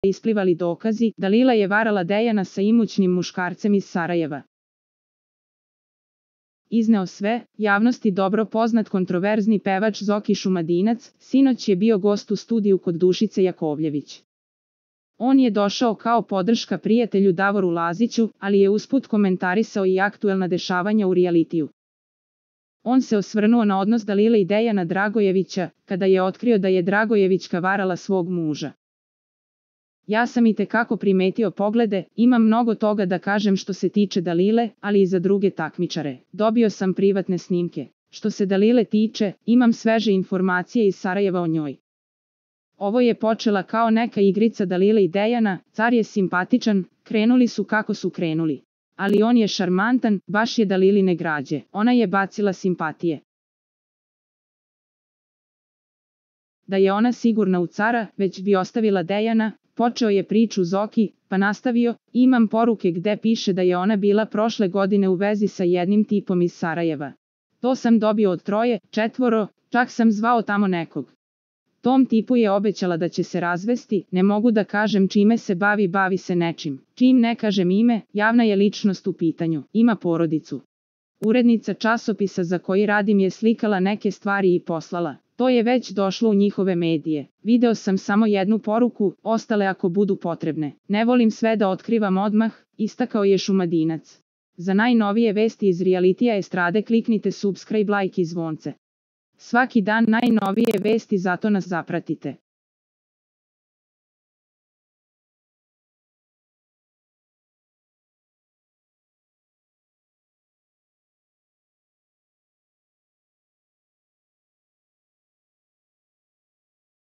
isplivali dokazi da Lila je varala Dejana sa imućnim muškarcem iz Sarajeva. Izneo sve, javnosti dobro poznat kontroverzni pevač Zoki Šumadinac, sinoć je bio gost u studiju kod Dušice Jakovljević. On je došao kao podrška prijatelju Davoru Laziću, ali je usput komentarisao i aktuelna dešavanja u realitiju. On se osvrnuo na odnos Dalile i Dejana Dragojevića, kada je otkrio da je Dragojevićka varala svog muža. Ja sam itekako primetio poglede, imam mnogo toga da kažem što se tiče Dalile, ali i za druge takmičare. Dobio sam privatne snimke. Što se Dalile tiče, imam sveže informacije iz Sarajeva o njoj. Ovo je počela kao neka igrica Dalile i Dejana, car je simpatičan, krenuli su kako su krenuli. Ali on je šarmantan, baš je Daliline građe, ona je bacila simpatije. Da je ona sigurna u cara, već bi ostavila Dejana, počeo je priču Zoki, pa nastavio, imam poruke gde piše da je ona bila prošle godine u vezi sa jednim tipom iz Sarajeva. To sam dobio od 3, 4, čak sam zvao tamo nekog. Tom tipu je obećala da će se razvesti, ne mogu da kažem čime se bavi se nečim. Čim ne kažem ime, javna je ličnost u pitanju, ima porodicu. Urednica časopisa za koji radim je slikala neke stvari i poslala. To je već došlo u njihove medije. Video sam samo jednu poruku, ostale ako budu potrebne. Ne volim sve da otkrivam odmah, istakao je Šumadinac. Za najnovije vesti iz realitija estrade kliknite subscribe, like i zvonce. Svaki dan najnovije vesti, zato nas zapratite.